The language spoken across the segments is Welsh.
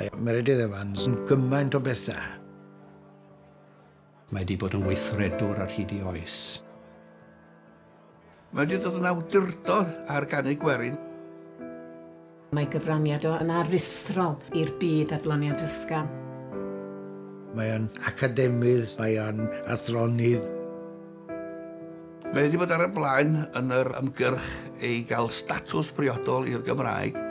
Mae Meredydd Evans yn gymaint o bethau. Mae wedi bod yn weithredwr ar hyd ei oes. Mae wedi dod yn awdurdod ar ganu gwerin. Mae gyfraniad o yn aruthrol i'r byd adloniant ysgafn. Mae o'n academydd, mae o'n athronydd. Mae wedi bod ar y blaen yn yr ymgyrch i gael statws priodol i'r Gymraeg.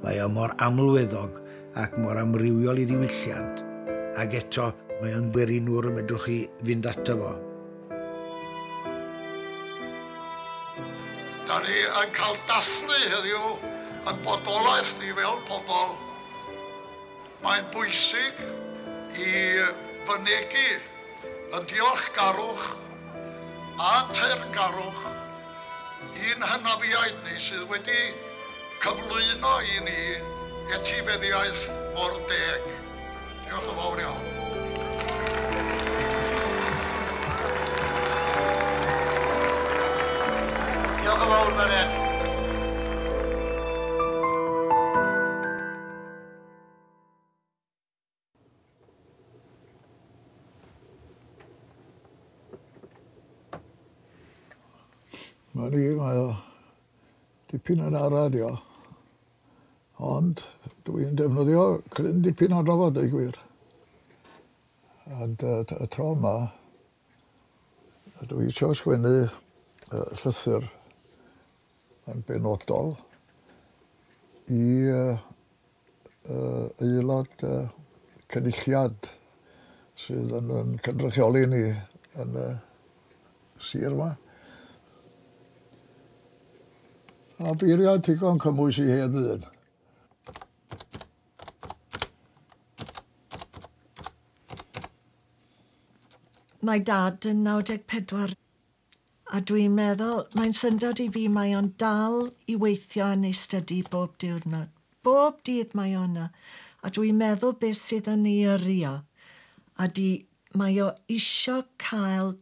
Mae o mor amlweddog ac mor amrywiol i ddiwylliant, ac eto mae o'n werinwr y medrwch chi fynd ato fo. Da ni yn cael dathlu heddiw yn bodolaeth ni fel pobl. Mae'n bwysig i fynegi yn diolchgarwch a teyrngarwch i'n hynafiaid ni sydd wedi cyflwyno i ni etifeddiaeth mor deg. Diolch yn fawr iawn. Diolch yn fawr, Marian. Mae ni, mae o dipyn yn ara dio. Ond dwi'n defnyddio cryn dipyn ohono fo, deud gwir. Ond y tro yma, dwi isio sgwennu llythyr yn benodol i aelod cynulliad sydd yn cynrychioli ni yn y sir yma. A beiriant digon cymwys i hen ddyn. Mae dad yn 94 a dwi'n meddwl, mae'n syndod i fi, mae o'n dal i weithio yn ei stydi bob diwrnod. Bob dydd mae o yna. A dwi'n meddwl beth sydd yn ei yrru o. A di, mae o isio cael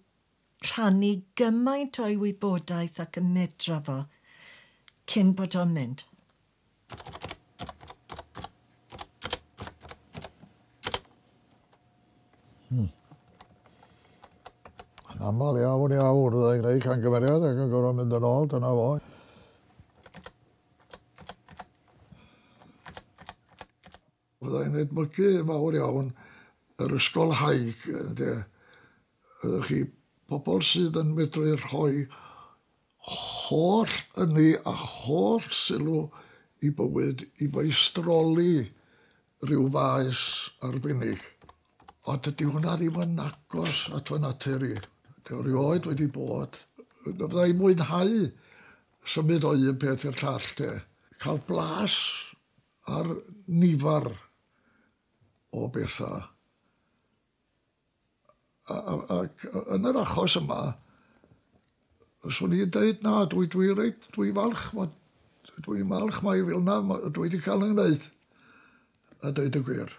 rhannu gymaint o'i wybodaeth ac y medra fo cyn bod o'n mynd. Yn aml iawn iawn fyddai'n gwneud camgymeriad ac yn gorfod mynd yn ôl, dyna fo. Fyddai'n edmygu mawr iawn yr ysgolhaig, ynde. Ydych chi pobl sydd yn medru rhoi holl ynni a holl sylw i bywyd i feistroli rhyw faes arbennig. Ond dydy hwnna ddim yn agos at fy natur i. Dwi erioed wedi bod. Fydda i'n mwynhau symud o un peth i'r llall, de. Cael blas ar nifar o bethau. Ac yn yr achos yma, swn i'n deud na, dwi, dwi reit, dwi falch, dwi'n falch mai fel 'na dwi wedi cael 'y ngwneud, a deud y gwir.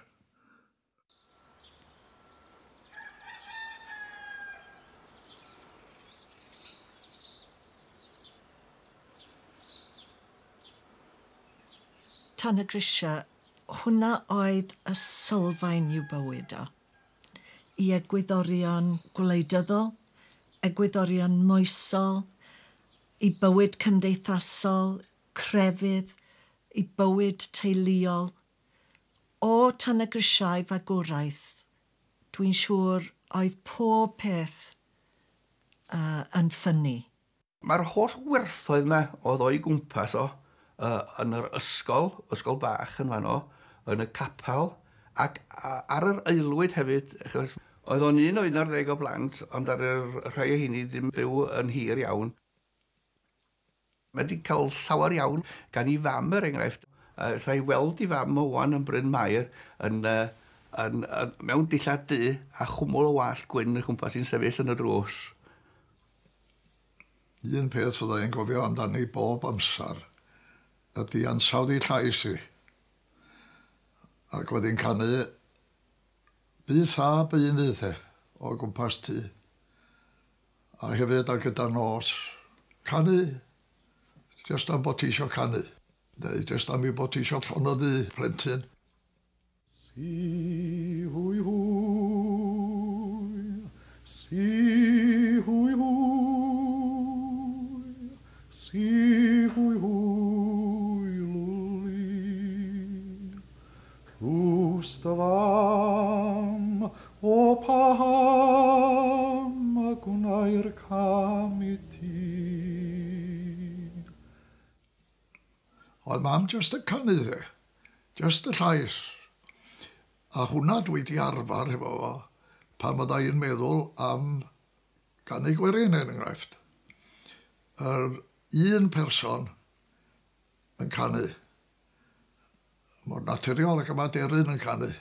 Tan y grisiau, hwnna oedd y sylfaen i'w bywyd o. I egwyddorion gwleidyddol, egwyddorion moesol, i bywyd cymdeithasol, crefydd, i bywyd teuluol. O tan y grisiau fagwraeth, dwi'n siŵr oedd pob peth yn ffynnu. Mae'r holl werthoedd yma oedd o'i gwmpas o yn yr ysgol, ysgol bach yn fanno, yn y capel, ac ar yr aelwyd hefyd, achos oedd o'n un o 11 o blant, ond ar y rhai o hynny ddim byw yn hir iawn. Mae wedi cael llawer iawn gan ei fam, er enghraifft. Alla i weld ei fam o wan yn Bryn Mair yn, yn, yn, mewn dillad du a chwmwl o wallt gwyn yn chwmpas i'n sefyll yn y drws. Un peth fydda i'n gofio amdani bob amser ydy ansawdd ei llais hi. Ac oedd hi'n canu byth a beunydd e, o gwmpas tŷ. A hefyd ar gyda'r nos, canu, jyst am bod ti isio canu. Neu jyst am ei bod ti eisiau llonyddu plentyn. Si hwy hwy, si hwy hwy, si hwy hwy lwli. Tlws dy fam, o paham y gwnai'r cam i ti. Oedd mam jyst yn canu dde, jyst y llais. A hwnna dwi 'di arfer hefo fo pan fydda i'n meddwl am ganu gwerin er enghraifft. Yr un person yn canu. Mor naturiol ac y mae deryn yn canu.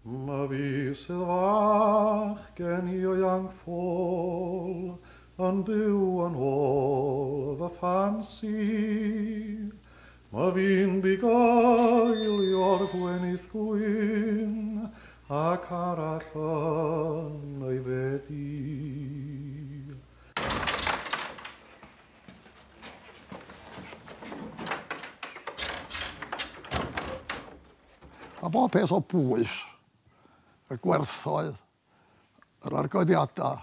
Ma fi sydd fach gen i o ianc ffôl yn byw yn ôl fy ffansi. Ma fi'n bugailio'r gwenith gwyn ac arall yn ei fedi. A bob peth o bwys, y gwerthoedd, yr argoediadau,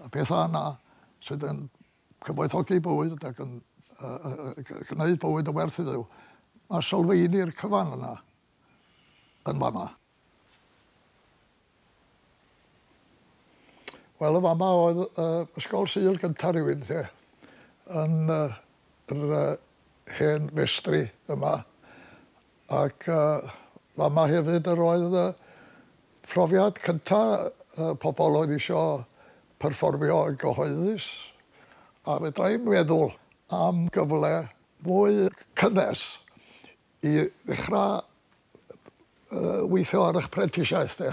y pethau yna sydd yn cyfoethogi bywyd ac yn gwneud bywyd yn werth i Dduw, mae sylfaeni'r cyfan yna yn fama. Wel, y fama oedd ysgol Sul gyntaf rhywun, te, yn yr hen festri yma. Ac fama hefyd yr oedd profiad cyntaf pobl oedd isio perfformio yn gyhoeddus. A fedra i'm meddwl am gyfle mwy cynnes i ddechrau weithio ar eich prentisiaeth, de.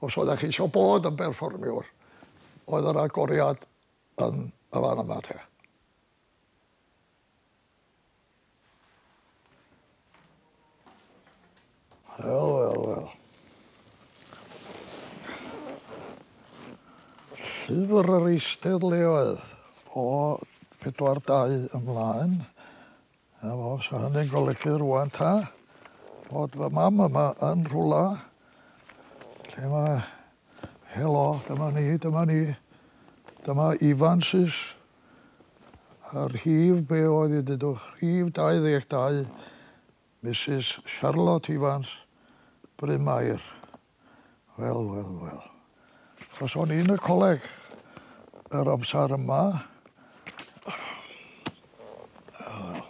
Os oeddech chi eisiau bod yn berfformiwr, oedd yr agoriad yn y fan yma, te. Wel, wel, wel. Llyfr yr eisteddleoedd o 42 ymlaen. A fo, sa hynny'n golygu rŵan ta, bod fy mam yma yn rhwla. Lle mae, helo, dyma ni, dyma ni. Dyma Evans's. A'r rhif, be oedd i dydwch, rhif 22, Mrs Charlotte Evans, Bryn Mair. Wel, wel, wel. Achos o'n i'n y coleg yr amser yma. Wel.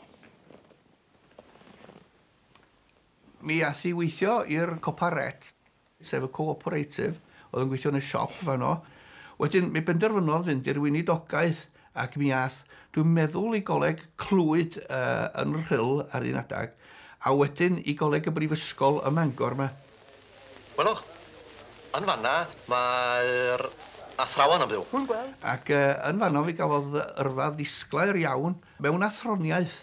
Mi ath i weithio i'r Coparet, sef y cooperative, oedd yn gweithio yn y siop fanno. Wedyn mi benderfynodd fynd i'r weinidogaeth ac mi ath, dwi'n meddwl, i goleg Clwyd yn Rhyl ar un adag, a wedyn i goleg y Brifysgol ym Mangor yma. Welwch, yn fanna mae'r athrawon yn byw. Dwi'n gweld. Ac yn fanno mi gafodd yrfa ddisglair iawn mewn athroniaeth.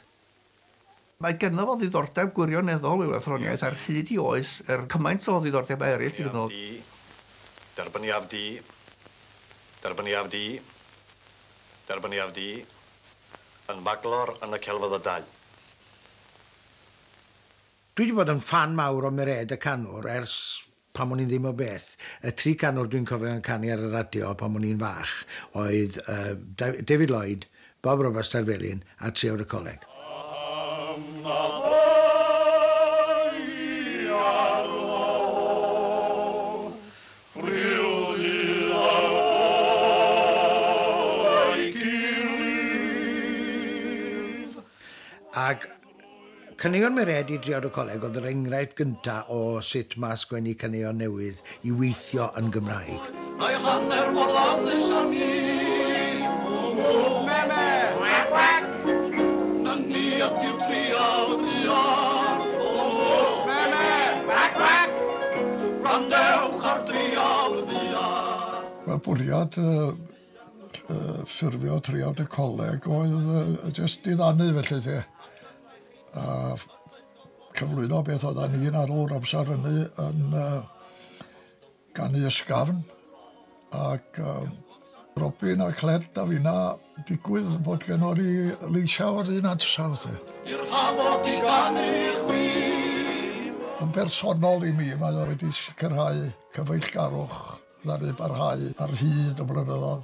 Mae genno fo ddiddordeb gwirioneddol mewn athroniaeth ar hyd i oes, er cymaint o ddiddordeb eraill sydd gynno fo. Derbyniaf di, derbyniaf di, derbyniaf di, yn maglor yn y celfyddydau. Dwi wedi bod yn ffan mawr o Merêd y Canwr ers pan o'n i'n ddim o beth. Y tri canwr dwi'n cofio yn canu ar y radio pan o'n i'n fach oedd David Lloyd, Bob Roberts Terfelyn a Triawd y Coleg. Ac caneuon Merêd i Driawd y Coleg oedd yr enghraifft gyntaf o sut mae sgwennu caneuon newydd i weithio yn Gymraeg. Mae hanner mor ddawnus â mi. Me, me, wac, wac. Nyni ydyw triawd buarth. Me, me, wac, wac. Gwrandewch ar driawd buarth. Mae bwriad ffurfio Triawd y Coleg oedd jyst diddanu felly te. A cyflwyno beth oeddan ni'n alw'r amser hynny yn ganu ysgafn ac Robin a Cled a finna, digwydd bod gennon ni leisiau o'r un ansawdd. I'r hafod i ganu chwi. Yn bersonol i mi, mae o wedi sicrhau cyfeillgarwch ddaru barhau ar hyd y blynyddoedd.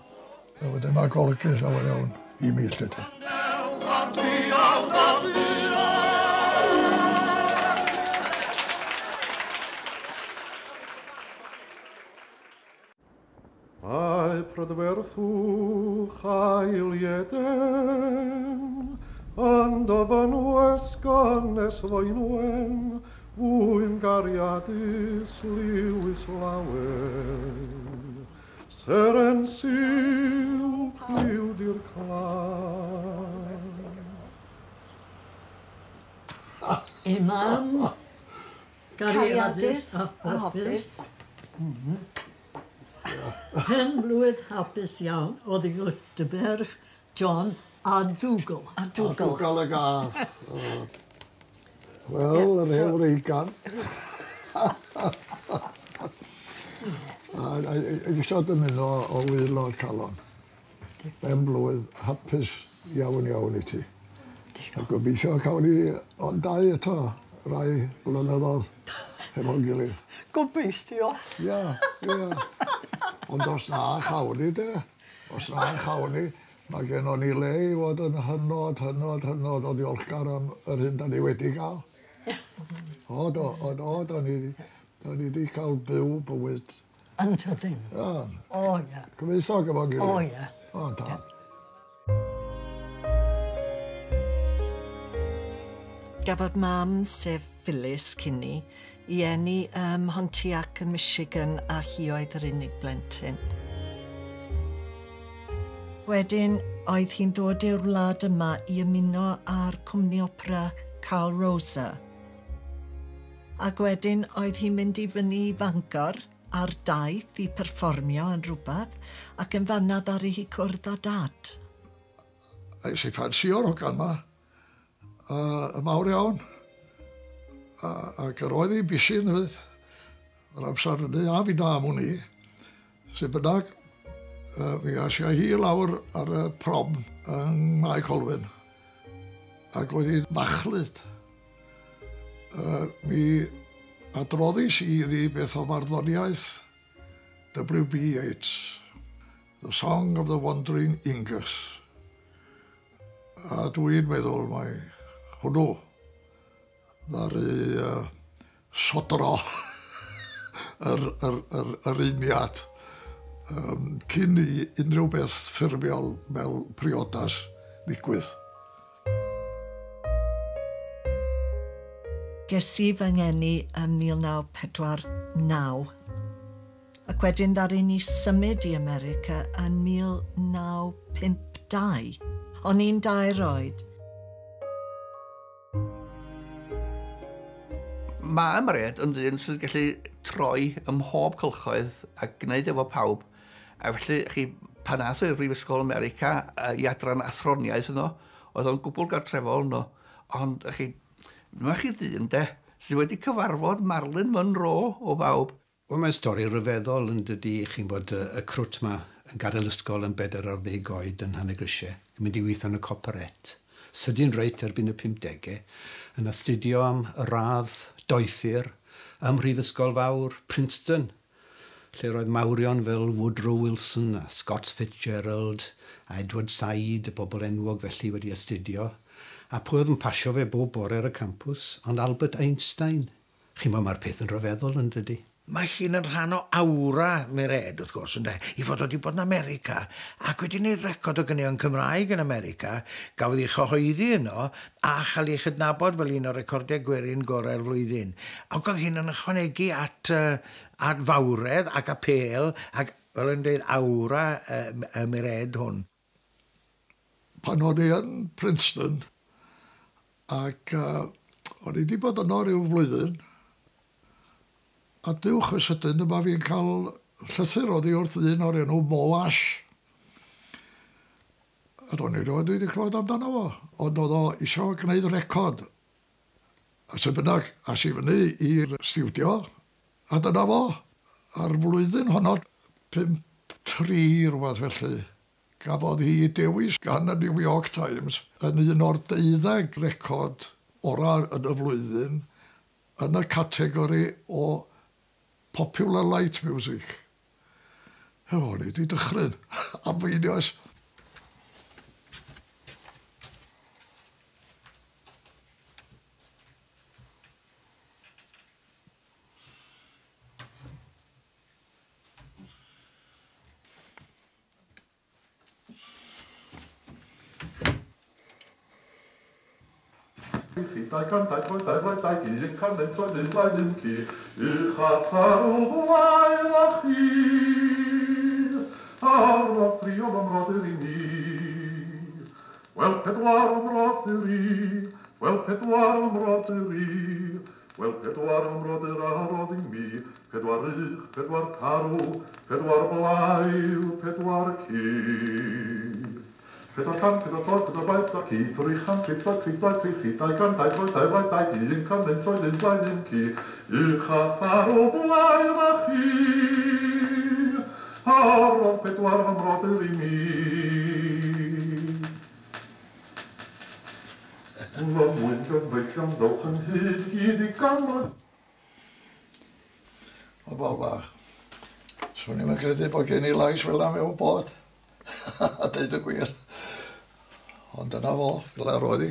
A wedyn mae golygu llawer iawn i mi, 'lly te. Mae prydferthwch ail Eden yn dy fynwes gynnes Faenwen, fwy'n gariadus Lewis lawen. Seren silc liw di'r claf. I mam, Cariadus a hoffus. Pen blwydd hapus iawn oddi wrth dy ferch John a Dougal. A Dougal. A Dougal y gath. Wel, yr hen wreigan. A eisiau dymuno o waelod calon. Ben blwydd hapus iawn iawn i ti. A gobeithio cawn ni ond dau eto rai blynyddoedd hefo'n gilydd. Gobeithio. Ia, ia. Ond os na chawn ni de, os na chawn ni, mae gennon ni le i fod yn hynod, hynod, hynod o ddiolchgar am yr hyn da ni wedi gael. O do, o do, da ni, da ni wedi cael byw bywyd. Yn tydyn? Ia. O ia. Cyfoethog efo'n gilydd. O ia. O, tad. Gafodd mam, sef Phyllis Kinney, i eni ym Mhontiac yn Michigan a hi oedd yr unig blentyn. Wedyn oedd hi'n dod i'r wlad yma i ymuno â'r cwmni opera Carl Rosa. Ac wedyn oedd hi'n mynd i fyny i Fangor ar daith i perfformio yn rhywbeth ac yn fanna ddaru hi cwrdd â dad. Es i ffansio'r hogan 'ma, y mawr iawn. Ac yr oedd hi'n busy hefyd. Yr amser hynny, a fi na am wn i. Sut bynnag, mi as i hi lawr ar y prom yng Mae Colwyn. Ac oedd hi'n machlud. Mi adroddis i iddi beth o farddoniaeth W.B. Yeats, The Song of the Wandering Ingus. A dwi'n meddwl mai hwnnw ddaru sodro yr, yr, yr, yr uniad cyn i unrhyw beth ffurfiol fel priodas ddigwydd. Ges i fy ngeni ym 1949 ac wedyn ddaru ni symud i America yn 1952. O'n i'n 2 oed. Mae Mared yn ddyn sydd gallu troi ym mhob cylchoedd a gwneud efo pawb. A felly, chi, pan ath o i'r Brifysgol America i adran athroniaeth yno, oedd o'n gwbl gartrefol yno. Ond, chi, mae chi ddyn, de, sydd wedi cyfarfod Marilyn Monroe o bawb. Wel, mae'n stori ryfeddol yn dydi, chi'n bod y crwt ma yn gadael ysgol yn 14 oed yn Nhanygrisiau, yn mynd i weithio yn y Coperet. Sydyn reit erbyn y 50au, yn astudio am radd doethur ym Mhrifysgol Fawr Princeton, lle roedd mawrion fel Woodrow Wilson a Scott Fitzgerald a Edward Said, y bobl enwog felly wedi astudio. A pwy oedd yn pasio fe bob bore ar y campws? Ond Albert Einstein. Chi'n meddwl, mae'r peth yn rhyfeddol yn dydi? Mae hi'n yn rhan o awra Mared, wrth gwrs, ynde, i fod wedi bod yn America ac wedi gwneud record o ganeuon Cymraeg yn America, gafodd ei chyhoeddi yno a chael ei chydnabod fel un o'r recordiau gwerin gorau'r flwyddyn. Ac oedd hi'n yn ychwanegu at, at fawredd ac apêl ac, fel yn dweud, awra y Mared hwn. Pan o'n i yn Princeton, ac o'n i wedi bod yno ryw flwyddyn, a dewch y sydyn yma fi'n cael llythyr oddi wrth ddyn o'r enw Mo Ash. A do'n i rioed wedi clywed amdano fo, ond oedd o isio gwneud record. A sut bynnag, as i fyny i'r stiwdio, a dyna fo. A'r flwyddyn honno, 53, 1953 rhywbeth felly, gafodd hi dewis gan y New York Times yn un o'r 12 record orau yn y flwyddyn yn y categori o popular light music. O'n i wedi dychryn am einioes. Dau can, dau troi, dau flaen, dau gi, un can, un troed, un blaen, un ci, uch a tharw blaen a chi, arnodd tri o fy mrodyr i mi. Wel, pedwar o mrodyr i, wel, pedwar o mrodyr i, wel, pedwar o mrodyr a rodd i mi, pedwar ych, pedwar tarw, pedwar blaidd, pedwar ci. Pedwar can, pedwar troed, pedwar blaen, pedwar ci, tri chan, tri troed, tri blaen, tri chi, dau can, dau troed, dau blaen, dau gi, un can, un troed, un blaen, un ci, uch a tharw blaen a chi, a rodd pedwar fy mrodyr i mi. Fy mwyn gyfeillion dowch yn hyd gyd i ganmod. O bol bach. Swn i'm yn credu bod gen i lais fel 'na mewn bod. A deud y gwir. Ond dyna fo, fel 'a roedd hi.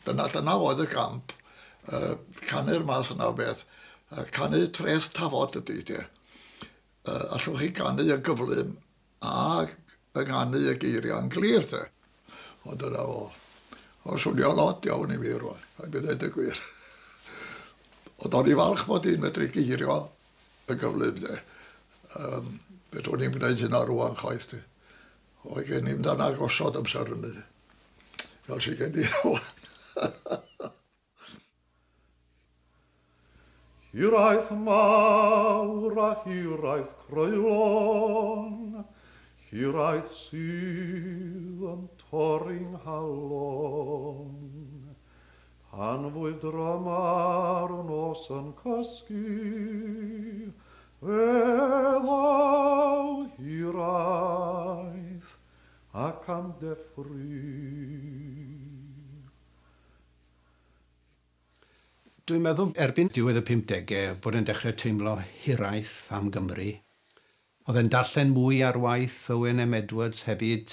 Dyna oedd y gamp. Canu'r math yna o beth. Canu treth tafod ydy, de. Allwch chi ganu yn gyflym a ynganu y geiriau yn glir, de. Ond dyna fo. O, swnio'n od iawn i mi rwan, rhaid mi ddeud y gwir. Ond o'n i falch bod i'n medru geirio yn gyflym, de. Fedrwn i'm gwneud hynna rwan chwaith, de. Oedd gen i'm dan agosod amser hynny, fel sydd gen i rwan. Hiraeth mawr a hiraeth creulon, hiraeth sydd yn torri'n nghalon. Pan fwyf dryma'r nos yn cysgu, fe ddaw hiraeth ac am deffry. Dwi'n meddwl erbyn diwedd y 50au bod e'n dechrau teimlo hiraeth am Gymru. Oedd e'n darllen mwy ar waith Owen M. Edwards hefyd,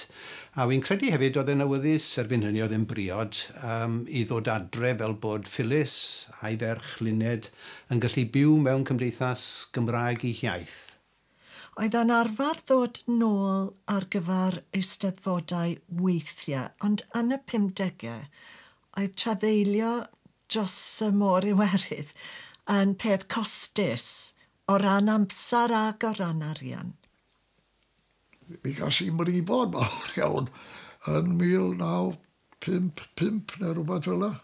a fi'n credu hefyd oedd e'n awyddus erbyn hynny oedd e'n briod i ddod adre fel bod Phyllis a'i ferch Luned yn gallu byw mewn cymdeithas Gymraeg ei hiaith. Oedd o'n arfer ddod nôl ar gyfer eisteddfodau weithiau, ond yn y 50au oedd trafeilio dros y môr Iwerydd yn peth costus o ran amser ag o ran arian. Mi gas i mrifod mawr iawn yn 1955 neu rhywbeth fel 'na.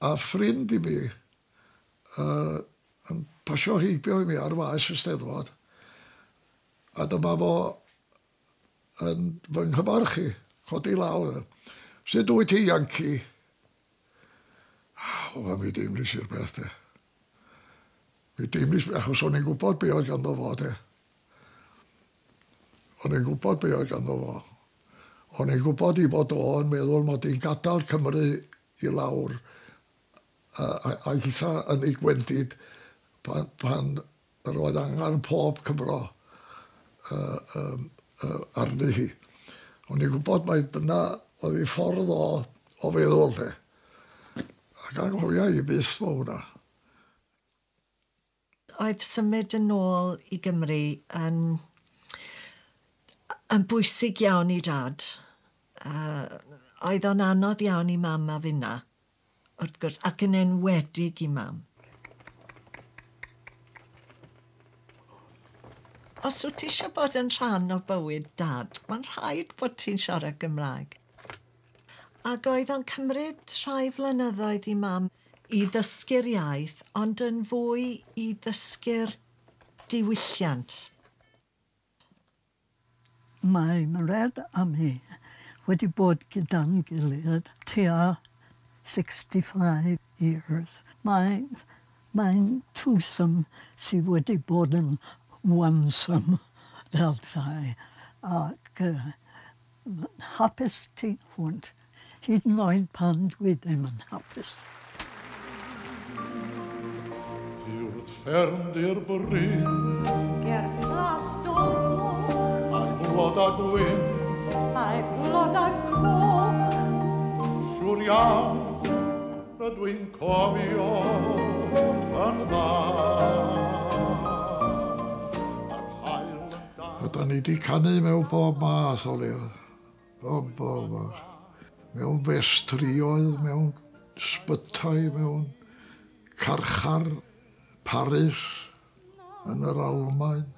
A ffrind i mi yn pasio heibio i mi ar faes y Steddfod, a dyma fo yn fy nghyfarch i, codi law. Sut wyt ti, Yankee? O, mi deimlis i'r peth, de. Mi deimlis, achos o'n i'n gwybod be oedd ganddo fo, de. O'n i'n gwybod be oedd ganddo fo. O'n i'n gwybod i fod o'n meddwl mod i'n gadael Cymru i lawr a hitha yn ei gwendid pan yr oedd angen pob Cymro arni hi. O'n i'n gwybod mai dyna oedd ei ffordd o feddwl, de. Ac anghofia i byth mo hwnna. Oedd symud yn ôl i Gymru yn bwysig iawn i dad. Oedd o'n anodd iawn i mam a finna, wrth gwrs, ac yn enwedig i mam. Os wyt ti eisiau bod yn rhan o bywyd dad, mae'n rhaid bod ti'n siarad Gymraeg. Ac oedd o'n cymryd rhai flynyddoedd i mam i ddysgu'r iaith, ond yn fwy i ddysgu'r diwylliant. Mae Mared a mi wedi bod gyda'n gilydd tua 65 years. Mae'n twosome sydd wedi bod yn onesome. fel rhai, ac hapus tu hwnt, hyd yn oed pan dwi ddim yn hapus. Wrth ffermdy'r bryn, ger Plas Dolgoch, a'i floda gwyn, a'i floda coch. Siŵr iawn, rydw i'n cofio yn dda. A da ni wedi canu mewn pob math o le. Bob math. Mewn festrioedd, mewn sbytai, mewn carchar, Paris, yn yr Almaen,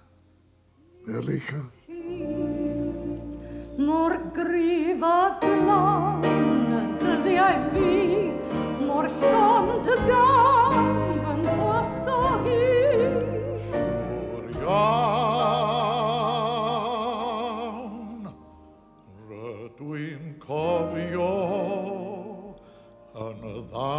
America. Mor gryf a glân dyddiau fi, mor llond y gan fy nghwasog i. Siŵr iawn, rydw i'n cofio yn dda.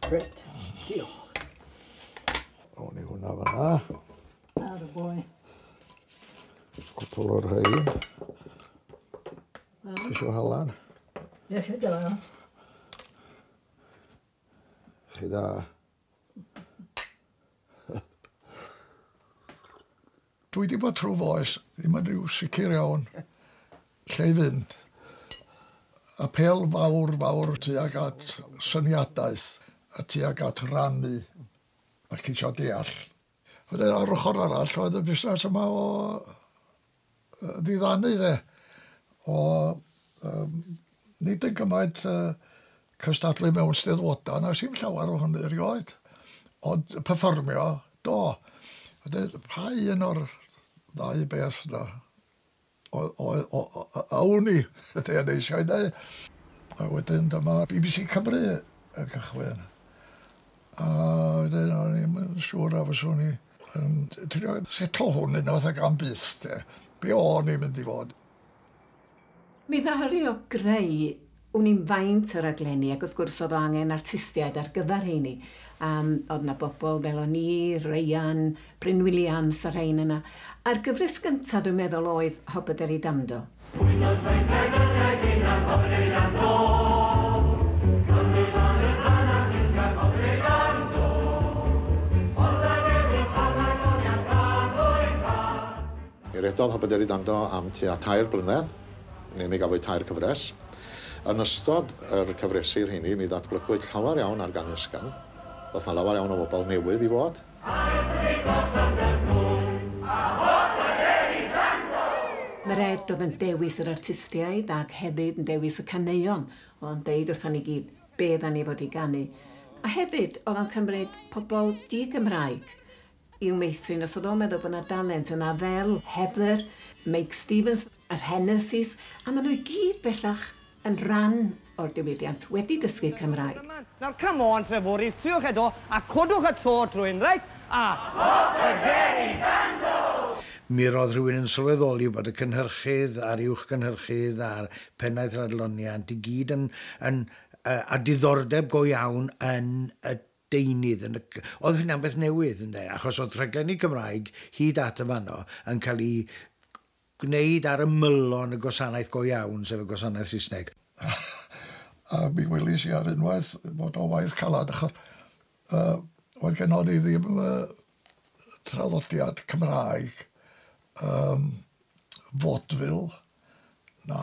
Reit, diolch. O'n i hwnna fan'na. Ar y boi. Cwpl o'r rhain. Isio halan? Iechyd da. Chi da. Dwi wedi bod trwy foes, ddim yn rhyw sicr iawn lle i fynd. Apêl fawr fawr tuag at syniadaeth a tuag at rannu a ceisio deall. Wedyn ar ochr arall oedd y busnes yma o ddiddanu de, o nid yn gymaint cystadlu mewn steddfodau, na sy'm llawer o hynny erioed, ond perfformio, do. Wedyn, pa un o'r ddau beth yna, awn i, ydy yn eisiau ei wneud. A wedyn dyma BBC Cymru yn cychwyn. A wedyn o'n i'm yn siŵr a fyswn i yn trio setlo hwn unwaith ac am byth, de. Be o'n i'n mynd i fod? Mi ddaru o greu wn i'n faint o raglenni, ac wrth gwrs oedd o angen artistiaid ar gyfer heini. Oedd 'na bobl fel o'n i, Ryan, Bryn Williams a rhain yna. A'r gyfres gyntaf dwi'n meddwl oedd Hobaderi Dando. Mi redodd Hobaderi Dando am tua 3 blynedd, neu mi gafwyd 3 cyfres. Yn ystod yr cyfresi'r rheini, mi ddatblygwyd llawer iawn ar ganu ysgafn. Ddoth 'na lawer iawn o bobl newydd i fod. Mared oedd yn dewis yr artistiaid ac hefyd yn dewis y caneuon. Oedd o'n deud wrthon ni gyd be dda ni fod i ganu. A hefyd oedd o'n cymryd pobl di-Gymraeg i'w meithrin, os oedd o'n meddwl bod 'na dalent yna fel Heather, Meic Stevens, yr Hennessys, a maen nhw i gyd bellach yn rhan o'r diwydiant wedi dysgu Cymraeg. Nawr, come on, Treforys, triwch eto, a codwch y to trwy'n, reit? A Hobaderi Dando! Mi roedd rhywun yn sylweddoli bod y cynhyrchydd a'r uwch gynhyrchydd a'r pennaeth adloniant i gyd yn a diddordeb go iawn yn y deunydd. Oedd hynna'n beth newydd, ynde? Achos oedd rhaglenni Cymraeg hyd at y fanno yn cael ei gwneud ar ymylon y gwasanaeth go iawn, sef y gwasanaeth Saesneg. A mi welis i ar unwaith bod o waith calad, achos oedd gennon ni ddim traddodiad Cymraeg vaudeville, na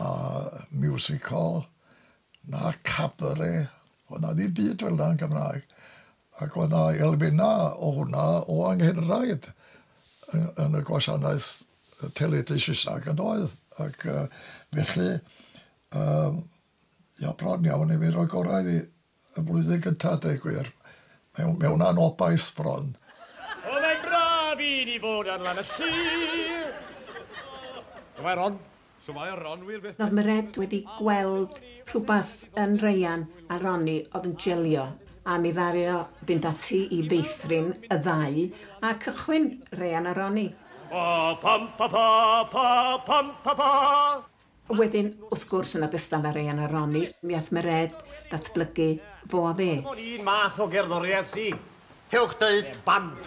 musical, na cabaret. Oedd na ddim byd fel 'na yn Gymraeg. Ac oedd na elfennau o hwnna o anghenraid yn y gwasanaeth teledu Saesneg yn doedd. Ac felly, ia, bron iawn i mi roi gorau iddi y blwyddyn gyntaf, deud gwir, mewn anobaith bron. Oedd e'n braf i ni fod ar lan y llŷr. Dyma Ron. So mae Ron wir beth. Oedd Mered wedi gweld rhywbeth yn Ryan a Ronnie oedd yn jelio a mi ddaru o fynd ati i feithrin y ddau a cychwyn Ryan a Ronnie. Pa pam pa pa pa pam pa pa. Wedyn, wrth gwrs, yn ogystal â Ryan a Ronnie, mi ath Mered datblygu fo a fe. Dim ond un math o gerddoriaeth sy. Cewch deud band.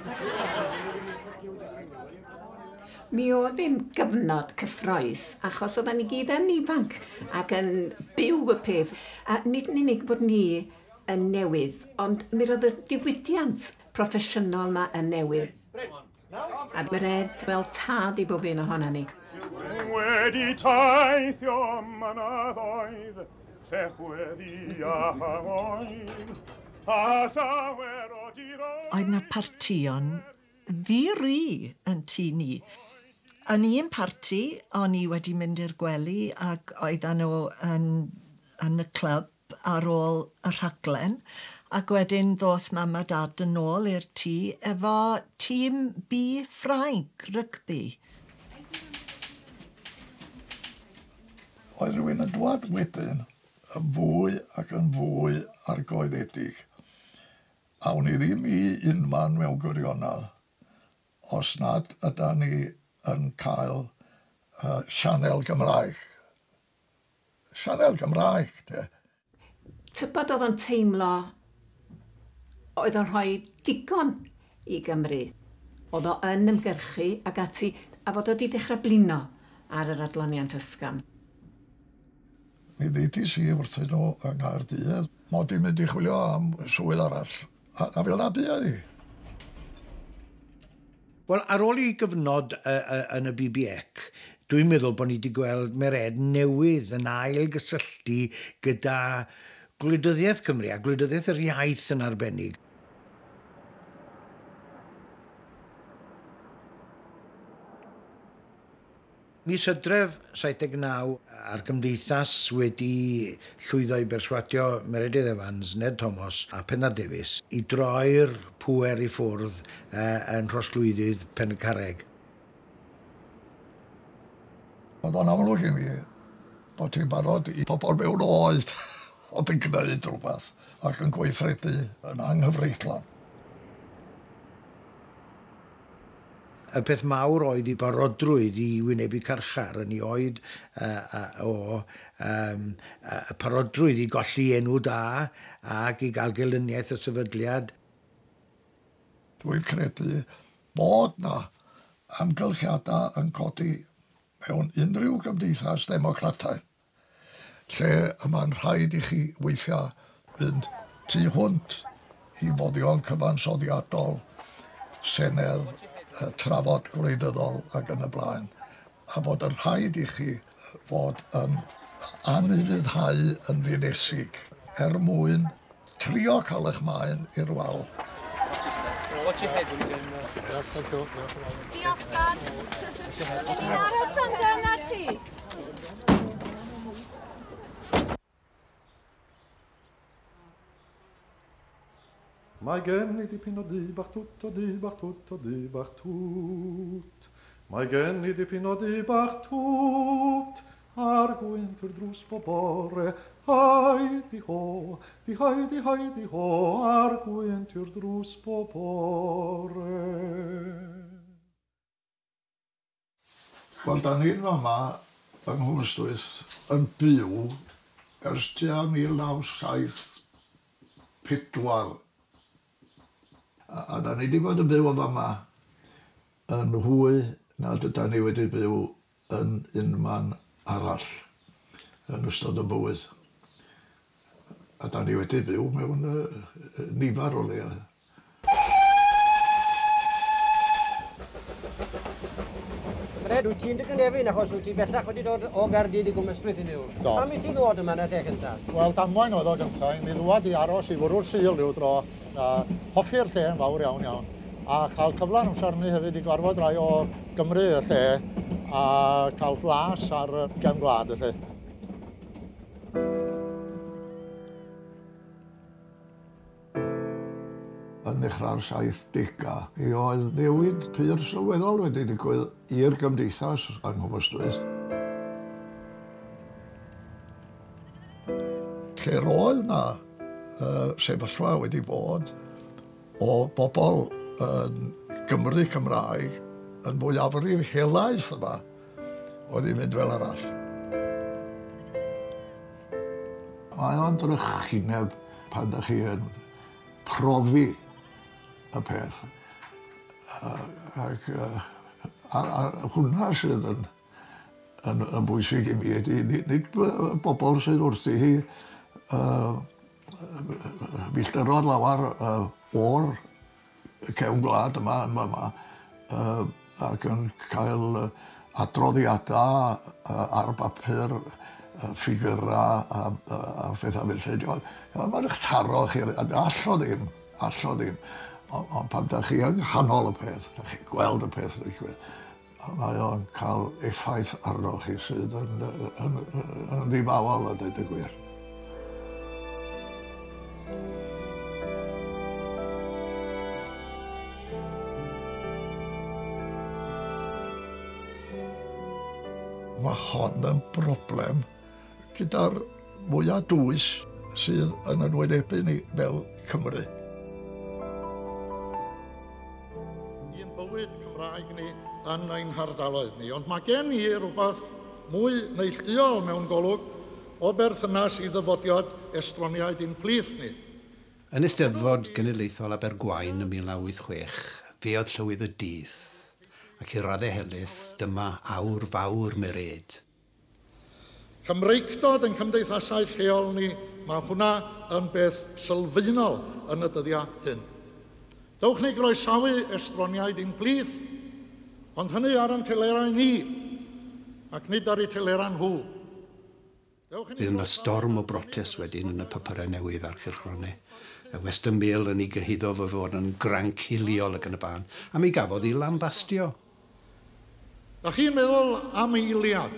Mi oedd hi'n gyfnod cyffrous, achos oedden ni gyd yn ifanc ac yn byw y peth. A nid yn unig bod ni yn newydd, ond mi roedd y diwydiant proffesiynol yma yn newydd. A Mered fel tad i bob un ohona ni. Wedi teithio mynyddoedd, llechweddi a hangoedd, a llawer o diroedd. Oedd na partïon ddi-ri yn tŷ ni. Yn un parti, o'n i wedi mynd i'r gwely ac oedden nhw yn y clwb ar ôl y rhaglen, ac wedyn ddoth mam a dad yn ôl i'r tŷ efo tîm B Ffrainc rygbi. Oedd rhywun yn dwad wedyn yn fwy ac yn fwy argoeddedig. A wn i ddim i unman mewn gwirionedd os nad yda ni yn cael sianel Gymraeg. Sianel Gymraeg, de. Tybed oedd o'n teimlo oedd o'n rhoi digon i Gymru. Oedd o yn ymgyrchu ac ati, a fod o wedi dechrau blino ar yr adloniant ysgafn. Mi ddeudis i wrthyn nhw yng Nghaerdydd mod i'n mynd i chwilio am swydd arall, a fel 'na buodd hi. Wel, ar ôl i gyfnod yn y BBEC, dwi'n meddwl bod ni wedi gweld Mered newydd yn ail gysylltu gyda gwleidyddiaeth Cymru a gwleidyddiaeth yr iaith yn arbennig. Mis Hydref 79 a'r gymdeithas wedi llwyddo i berswadio Meredydd Evans, Ned Thomas a Pennar Davies i droi'r pŵer i ffwrdd yn rhosglwyddydd Pen y Carreg. Oedd o'n amlwg i mi bod ti'n barod i pobl mewn oed oedd yn gwneud rhywbeth ac yn gweithredu yn anghyfreithlon. Y peth mawr oedd i barodrwydd i wynebu carchar yn ei oed o y parodrwydd i golli enw da ac i gael gelyniaeth y sefydliad. Dwi'n credu bod na amgylchiadau yn codi mewn unrhyw gymdeithas ddemocrataidd lle y mae'n rhaid i chi weithio fynd tu hwnt i foddion cyfansoddiadol, senedd, trafod gwleidyddol ac yn y blaen, a bod yn rhaid i chi fod yn anufuddhau yn ddinesig er mwyn trio cael eich maen i'r wal. Diolch, Dad. Fydden ni'n aros amdana ti. Mae gen i dipyn o dŷ bach twt, o dŷ bach twt, o dŷ bach twt. Mae gen i dipyn o dŷ bach twt, a'r gwynt i'r drws bob bore. Hai di ho, di hai di hai di ho, a'r gwynt i'r drws bob bore. Wel, da ni'n fama yng Nghwmystwyth yn byw ers tua 1974. A da ni wedi bod yn byw yn fama yn hwy nad yda ni wedi byw yn unman arall yn ystod y bywyd. A da ni wedi byw mewn nifer o leoedd. Fred, wyt ti'n dy gynefin achos wyt ti bellach wedi dod o Gaerdydd i Gwm Ystwyth i fyw. Do. Pam i ti ddod yma yn y lle cyntaf? Wel, damwain oedd o gyntaf. Mi ddwad i aros i fwrw'r Sul rhyw dro. A hoffi'r lle yn fawr iawn iawn. A chael cyfle yn amser hynny hefyd i gwarfod rai o Gymru y lle a cael blas ar y gefn gwlad y lle. Yn dechrau'r 70au, mi oedd newid pur sylweddol wedi digwydd i'r gymdeithas yng Nghwm Ystwyth. Lle roedd na sefyllfa wedi bod o bobl yn Gymru Cymraeg yn mwyafrif helaeth yma oedd hi'n mynd fel arall. Mae o'n drychineb pan ydych chi yn profi y peth. Ac a hwnna sydd yn bwysig i mi ydy, nid bobl sydd wrthi hi milltiroedd lawer o'r cefn gwlad yma yn fama ac yn cael adroddiadau ar bapur, ffigurau a phethau felly. Mae'n eich taro chi, all o ddim, all o ddim. Ond pan da chi yng nghanol y peth, da chi'n gweld y peth yn digwydd, mae o'n cael effaith arnoch chi sydd yn ddifawol a dweud y gwir. Mae hon yn broblem gyda'r mwyaf dwys sydd yn enwynebu ni fel Cymru. Un bywyd Cymraeg ni yn ein hardaloedd ni, ond mae gen i rhywbeth mwy neilltuol mewn golwg o berthynas i ddyfodiad estroniaid i'n plith ni. Yn Eisteddfod Genedlaethol Abergwaun ym 1986, fe oedd llywydd y dydd, ac i raddau helaeth dyma awr fawr Merêd. Cymreictod yn cymdeithasau lleol ni, mae hwnna yn beth sylfaenol yn y dyddiau hyn. Dewch ni groesawu estroniaid i'n plith, ond hynny ar ein telerau ni, ac nid ar eu telerau nhw. Fydd yna storm o brotest wedyn yn y papurau newydd a'r cylchgronau. Y Western Mail yn ei gyhuddo fo fod yn granc hiliol ac yn y blaen, a mi gafodd ei lambastio. Da chi'n meddwl am eiliad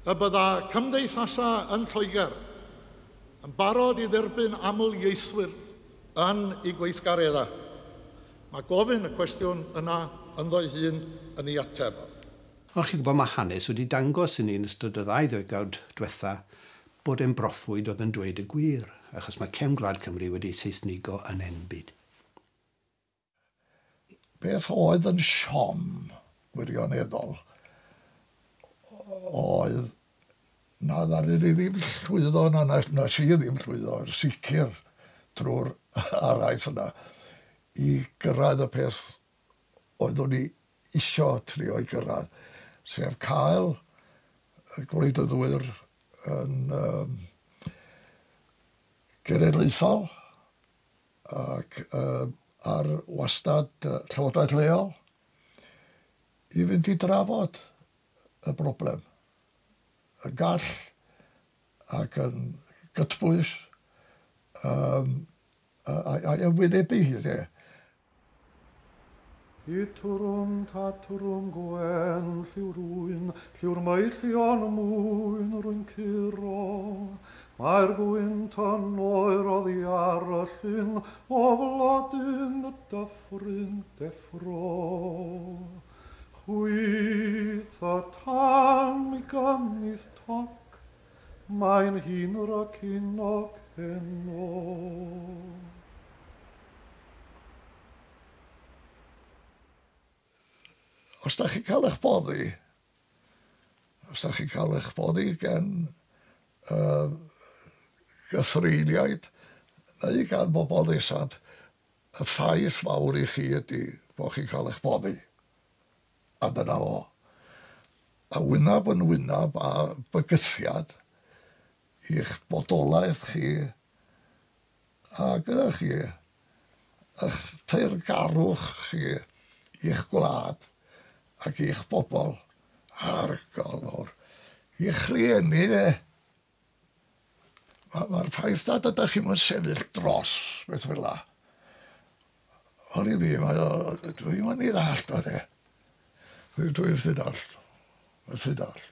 y bydda cymdeithasau yn Lloegr yn barod i dderbyn aml ieithwyr yn ei gweithgareddau. Mae gofyn y cwestiwn yna ynddo'i hun yn ei ateb. Ond chi'n gwybod, mae hanes wedi dangos i ni yn ystod y ddau ddegawd diwetha bod e'n broffwyd oedd yn dweud y gwir, achos mae cefn gwlad Cymru wedi Seisnigo yn enbyd. Beth oedd yn siom wirioneddol oedd na ddaru ni ddim llwyddo, na si ddim llwyddo, yn sicr trwy'r araith yna, i gyrraedd y peth oeddwn ni isio trio i gyrraedd, sef cael y gwleidyddwyr yn genedlaethol ac ar wastad llywodraeth leol i fynd i drafod y broblem. Yn gall ac yn gytbwys a'i wynebu hi de. Itwrwm tatwrwm gwen lliwrwyn, lliw'r meillion mwyn rwy'n curo. Mae'r gwynt yn oer oddi ar y llyn, o flodyn y dyffryn deffro. Chwyth y tan mi gynnydd toc, mae'n hun rac unog heno. Os da chi'n cael eich boddi, os da chi'n cael eich boddi gen gythreuliaid neu gan bobl nesaf, y ffaith fawr i chi ydy bod chi'n cael eich boddi. A dyna fo. A wynab yn wynab a bygythiad i'ch bodolaeth chi a gyda chi, eich teyrngarwch chi i'ch gwlad ac i'ch bobl argol mawr, i'ch rhieni de. Mae'r ffaith nad ydych chi'n sefyll dros beth fel la. Ond i fi, dwi'n mynd i ddallt o de. Dwi'n methu dallt. Methu dallt.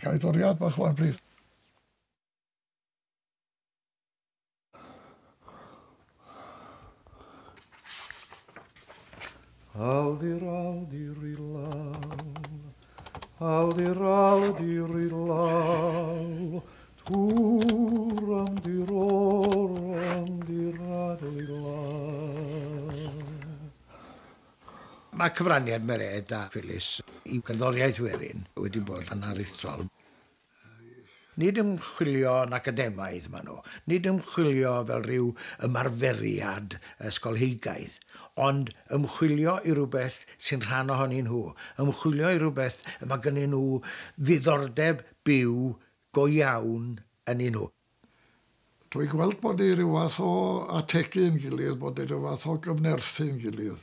Ga i doriad bach wan, plîs. Aldir, aldir i lawr, Aldir aldirilal, turandirorandiradilal. Mae cyfraniad Mered a Phyllis i gerddoriaeth werin wedi bod yn aruthrol. Nid ymchwilio yn academaidd maen nhw, nid ymchwilio fel rhyw ymarferiad ysgolheigaidd, ond ymchwilio i rywbeth sy'n rhan ohonyn nhw, ymchwilio i rywbeth y mae gynnyn nhw ddiddordeb byw go iawn yn nhw. Dwi'n gweld bod ni rhyw fath o ategu yn gilydd, bod ni rhyw fath o gyfnerthu yn gilydd.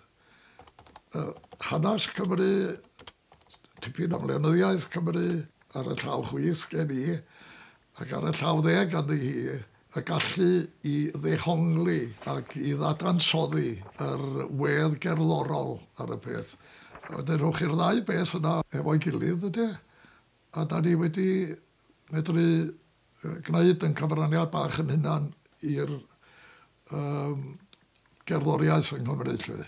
Hanes Cymru, tipyn am lenyddiaeth Cymru ar y llaw chwith gen i, ac ar y llaw dde ganddi hi, y gallu i ddehongli ac i ddadansoddi yr wedd gerddorol ar y peth. Wedyn rhowch chi'r ddau beth yna efo'i gilydd, ydy? A da ni wedi medru gwneud yn cyfraniad bach yn hunan i'r gerddoriaeth yng Nghymru, lle.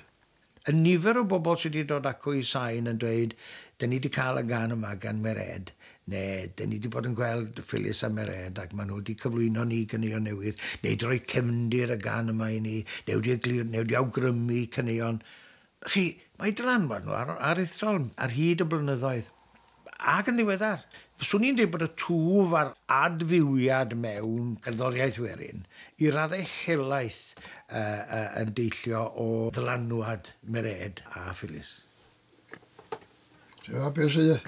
Y nifer o bobl sydd wedi dod acw i Sain yn dweud, dyn ni wedi cael y gân yma gan Mered, neu dyn ni wedi bod yn gweld Phyllis a Mered ac maen nhw wedi cyflwyno ni ganeuon newydd, neu wedi rhoi cefndir y gân yma i ni, neu wedi eglir, neu wedi awgrymu caneuon. Chi, mae dylanwad nhw aruthrol ar hyd y blynyddoedd. Ac yn ddiweddar, swn i'n dweud bod y twf a'r adfywiad mewn cerddoriaeth werin i raddau helaeth yn deillio o ddylanwad Mered a Phyllis. Ti'n gwybod beth sydd?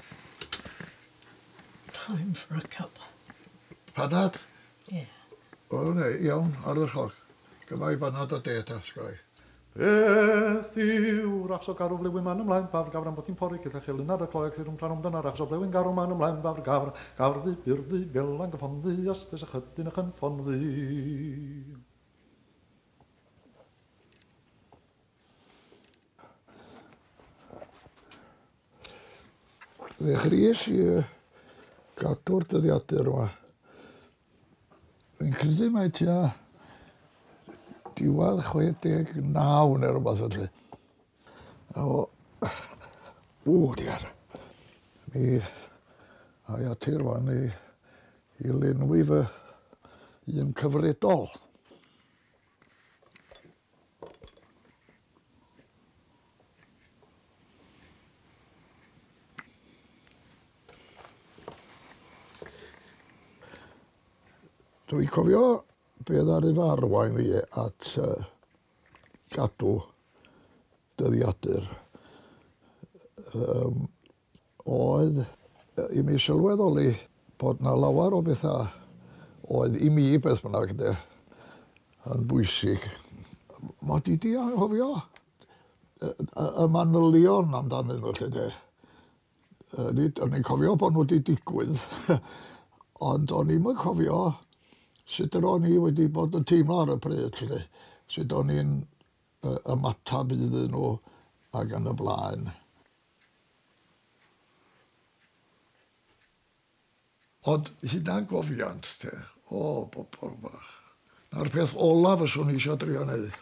Time for a cup. Panad? Ie. O, ne, iawn, ardderchog. Gyma i banad o de ta, sgoi. Beth yw'r achos o garw flewyn man ymlaen, bafr gafr am bod hi'n pori, cyllach elyn ar y cloeg, rhywun plan omdan ar achos o flewyn garw man ymlaen, bafr gafr, gafr ddu, byr ddu, felan gyffon ddu, ysbys a chydyn a chynffon ddu. Ddechreuais i gadw'r dyddiadur yma. Fi'n credu mai tua diwedd 69 neu rhywbeth felly. A o, diar. Mi ai ati rwan i lenwi fy un cyfredol. Dwi'n cofio be ddaru fy arwain fi at gadw dyddiadur oedd i mi sylweddoli bod 'na lawer o bethau oedd i mi beth bynnag de, yn bwysig. Mod i 'di anghofio y manylion amdanyn nhw 'lly de. Nid, o'n i'n cofio bod nhw wedi digwydd, ond o'n i'm yn cofio sut yr o'n i wedi bod yn teimlo ar y pryd, 'lly. Sut o'n i'n ymatab iddyn nhw ac yn y blaen. Ond hunangofiant, te, o, bobl bach. Na'r peth olaf fyswn i eisiau drio wneud.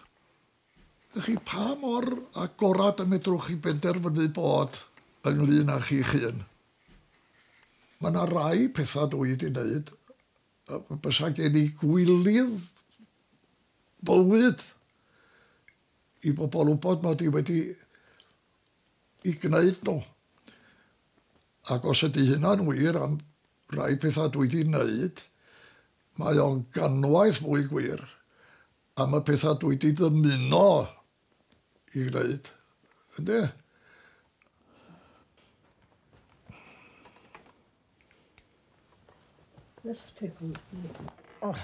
Chi, pa mor agorad y medrwch chi benderfynu bod ynglyn â chi'ch hun? Mae yna rai pethau dwi wedi wneud bysa gen i gwilydd bywyd i bobl wybod mod i wedi i gwneud nhw. Ac os ydy hynna'n wir am rai pethau dwi wedi wneud, mae o'n ganwaith mwy gwir am y pethau dwi wedi ddymuno i gwneud. Yndi? This tickles me. Oh.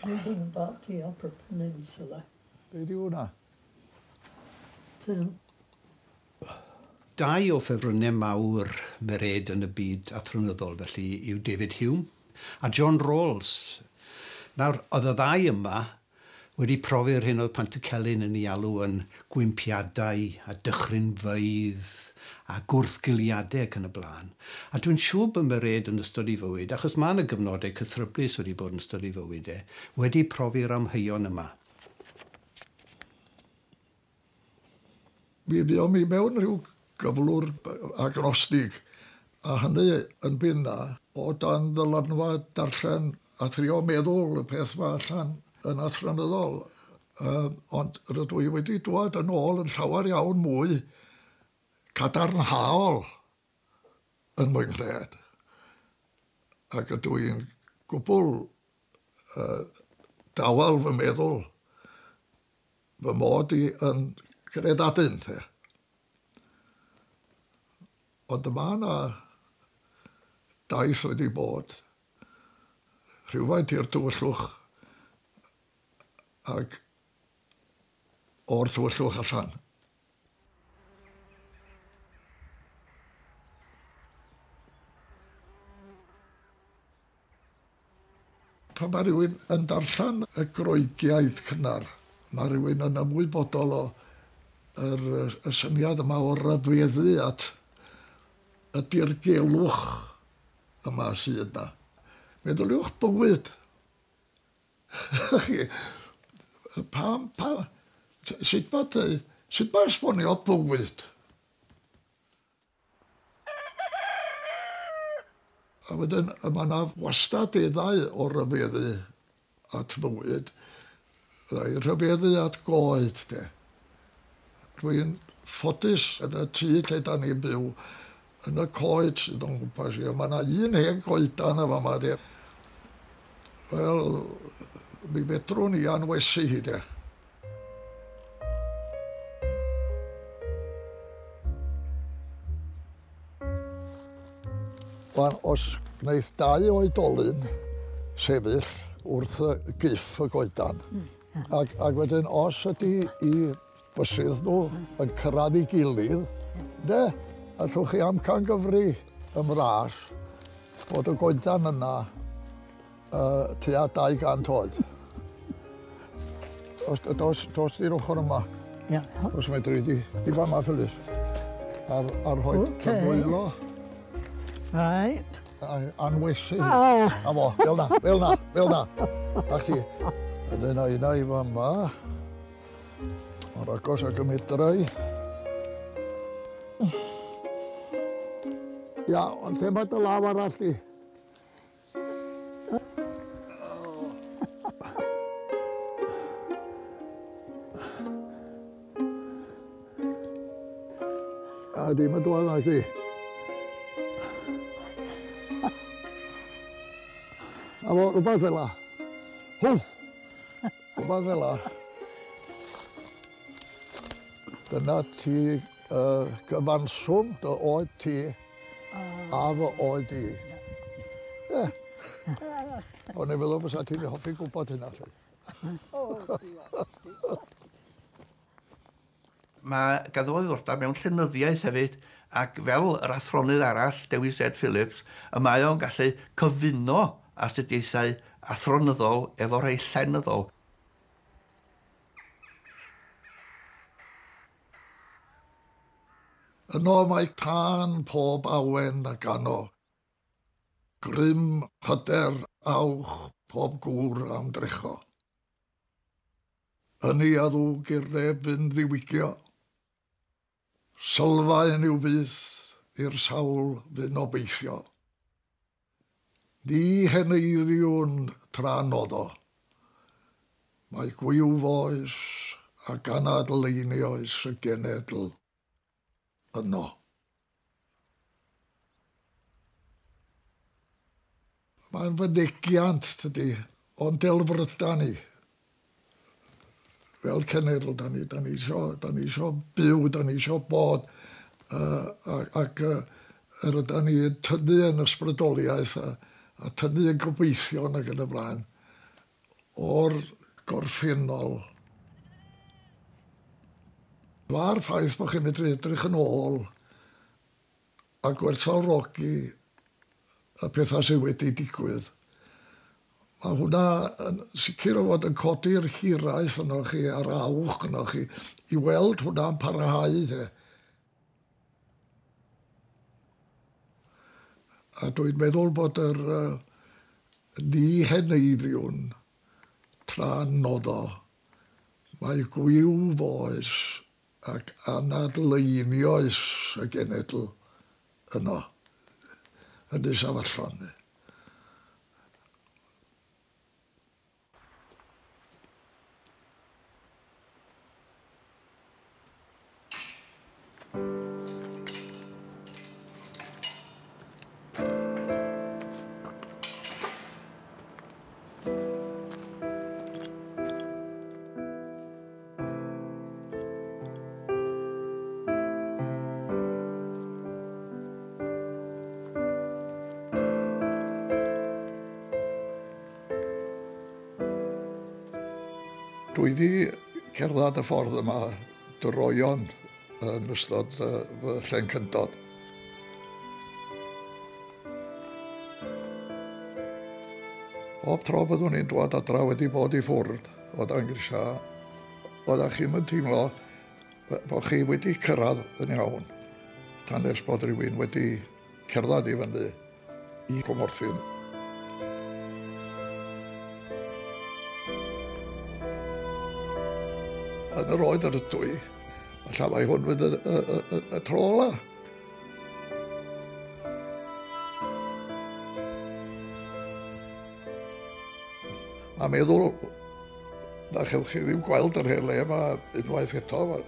Reading about the Upper Peninsula. Be di hwnna? Dyn. Dau o ffefrynnau mawr Mered yn y byd athronyddol felly yw David Hume a John Rawls. Nawr, oedd y ddau yma wedi profi'r hyn oedd Pantycelyn yn ei alw yn gwympiadau a dychrynfeydd a gwrthgiliadau ac yn y blaen. A dwi'n siŵr bod Mered yn ystod ei fywyd, achos mae yna gyfnodau cythryblus wedi bod yn ystod ei fywyd e, wedi profi'r amheuon yma. Mi fuom i mewn rhyw gyflwr agnostig, a hynny yn bynna o dan ddylanwad darllen a trio meddwl y peth 'ma allan yn athronyddol. Ond rydw i wedi dŵad yn ôl yn llawer iawn mwy cadarnhaol yn fy nghred. Ac ydw i'n gwbl dawel fy meddwl fy mod i yn gredadun, te. Ond mae yna daith wedi bod rhywfaint i'r tywyllwch ac o'r tywyllwch allan. Pan mae rhywun yn darllen y Groegiaid cynnar, mae rhywun yn ymwybodol o yr, y syniad yma o ryfeddu at y dirgelwch yma sydd yna. Meddyliwch bywyd. Chi, pam, pam, sut mae dweud, sut mae esbonio bywyd? A wedyn, mae yna wastadeddau o ryfeddu at fywyd. Byddai rhyfeddu at goed, de. Dwi'n ffodus yn y tŷ lle da ni'n byw, yn y coed sydd o'n gwmpas i. Mae yna un hen goedan yn fama, de. Wel, mi fedrwn i anwesu hi, de. Wan, os wneith dau oedolyn sefyll wrth y gyff y goedan, ac, ac wedyn os ydy i fysydd nhw yn cyrraedd ei gilydd, de, allwch chi amcangyfri yn fras bod y goedan yna tua 200 oed. Dos, dos, dos i'r ochr yma. Ia. Os medri di. Di fama, Phyllis. Ar, ar rhoi okay. dy ddwylo. Right. Anwesu. Oh. A fo, fel na, fel na, fel na. A chi. Wedyn a una i fama. O'r agos ag y medrai. Ia, ond lle mae dy law arall di? A dim yn dod na chi. A fo, rhywbeth fel la. Hw! Rhywbeth fel la. Dyna ti gyfanswm dy oed ti a fy oed i. Ie. O'n i'n meddwl fysa ti'n hoffi gwybod hynna. Lly. Mae ganddo fo ddiddordeb mewn llenyddiaeth hefyd, ac fel yr athronydd arall, Dewi Z Phillips, y mae o'n gallu cyfuno astudiaethau athronyddol efo rhai llenyddol. Yno mae tân pob awen a gano, Grym, hyder, awch pob gŵr am drecho. Ynni a ddwg i'r neb fynd ddiwygio, Sylfaen yw byth i'r sawl fyn obeithio. Ni heneiddiwn tra noddo. Mae gwiw foes ac anadl einioes y genedl yno. Mae'n fynegiant, tydi, o'n delfryda ni. Fel cenedl, da ni, da ni isio, da ni isio byw, da ni isio bod, ac yr ydan ni yn tynnu yn ysbrydoliaeth a, a tynnu yn gobeithion ac yn y blaen o'r gorffennol. Mae'r ffaith bod chi'n medru edrych yn ôl a gwerthfawrogi y pethau sydd wedi digwydd, mae hwnna yn sicr o fod yn codi'r hiraeth yno chi a'r awch yno chi i weld hwnna'n parhau. De. A dwi'n meddwl bod yr ni heneiddiwn tra noddo, mae gwiw foes Ac anadleinioes y genedl yno, yn Ynys Afallon. Dwi wedi cerdded y ffordd yma droeon yn ystod fy llencyndod. Bob tro byddwn i'n dwad adra wedi bod i ffwrdd o dan grisiau, oeddech chi'm yn teimlo bod chi wedi cyrraedd yn iawn tan nes bod rhywun wedi cerdded i fyny i Cwmorthin. Yn yr oed yr ydw i, falle mai hwn fydd y, y, y, y tro ola. Mae meddwl na chewch chi ddim gweld yr hen le yma unwaith eto. Mae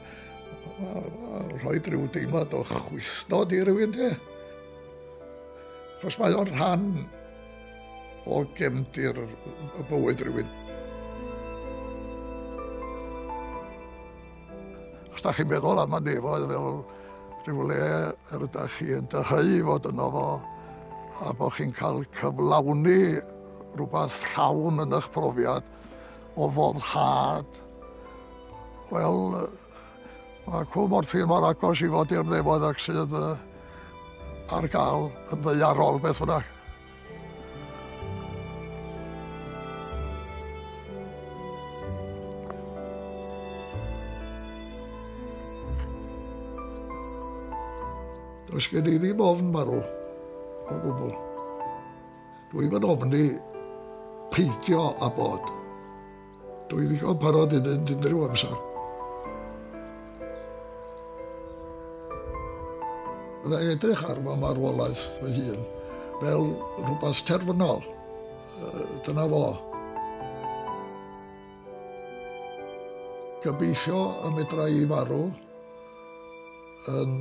ma, ma rhoi rhyw deimlad o chwisnod i rywun, te. Achos mae o'n rhan o gefndir y bywyd rhywun. Os da chi'n meddwl am y nefoedd fel rhyw le yr ydych chi yn dyheu i fod yno fo, a bod chi'n cael cyflawni rhywbeth llawn yn eich profiad o foddhad, wel, mae Cwm Orthin mor agos i fod i'r nefoedd ac sydd ar gael yn ddaearol beth bynnag. Does gen i ddim ofn marw o gwbl. Dwi'm yn ofni peidio â bod. Dwi ddigon parod i fynd unrhyw amser. Byddai'n edrych ar fy marwolaeth fy hun fel rhywbeth terfynol. Dyna fo. Gobeithio y medra i farw yn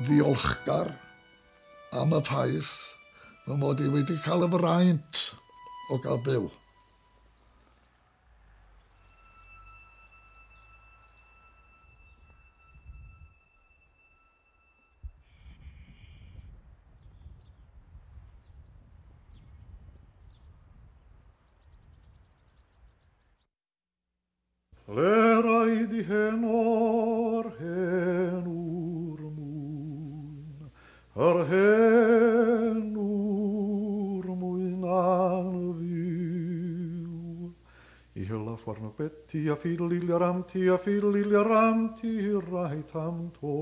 ddiolchgar am y ffaith fy mod i wedi cael y fraint o gael byw. Le raid i hen o'r hen ŵr mwyn, yr hen ŵr mwyn anfyw. I hela ffordd beti a ffidl ram ti a ffidl ram ti rai tam to.